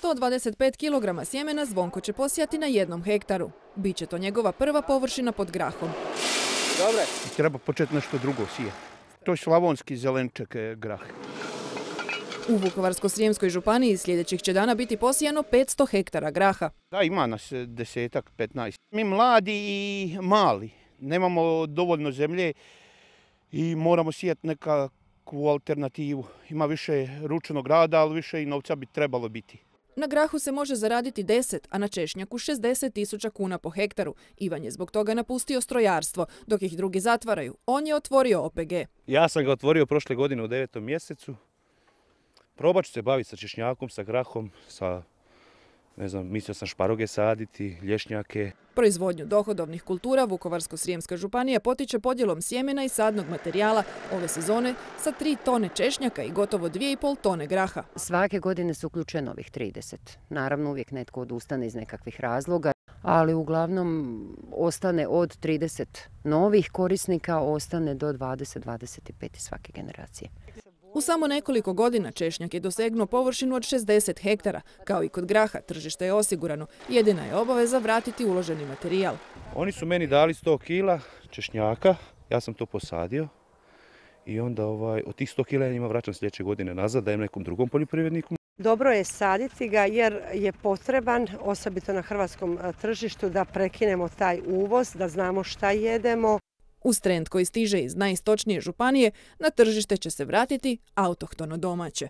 125 kg sjemena Zvonko će posijati na 1 hektaru. Biće to njegova prva površina pod grahom. Dobre. Treba početi nešto drugo sijati. To je slavonski zelenčak grah. U Vukovarsko-srijemskoj županiji sljedećih će dana biti posijano 500 hektara graha. Da, ima nas 10, 15. Mi mladi i mali. Nemamo dovoljno zemlje i moramo sijati nekakvu alternativu. Ima više ručnog rada, ali više i novca bi trebalo biti. Na grahu se može zaraditi 10, a na češnjaku 60.000 kuna po hektaru. Ivan je zbog toga napustio strojarstvo, dok ih drugi zatvaraju. On je otvorio OPG. Ja sam ga otvorio prošle godine u 9. mjesecu. Probat ću se baviti sa češnjakom, sa grahom, mislio sam šparoge saditi, lješnjake. Proizvodnju dohodovnih kultura Vukovarsko-srijemska županija potiče podjelom sjemena i sadnog materijala ove sezone sa 3 tone češnjaka i gotovo 2,5 tone graha. Svake godine se uključuje novih 30. Naravno uvijek netko odustane iz nekakvih razloga, ali uglavnom ostane od 30 novih korisnika, ostane do 20-25 svake generacije. U samo nekoliko godina češnjak je dosegnuo površinu od 60 hektara. Kao i kod graha, tržište je osigurano. Jedina je obaveza vratiti uloženi materijal. Oni su meni dali 100 kila češnjaka, ja sam to posadio i onda od tih 100 kila ja njima vraćam sljedeće godine nazad, dajem nekom drugom poljoprivredniku. Dobro je saditi ga jer je potreban, osobito na hrvatskom tržištu, da prekinemo taj uvoz, da znamo šta jedemo. Uz trend koji stiže iz najistočnije županije, na tržište će se vratiti autohtono domaće.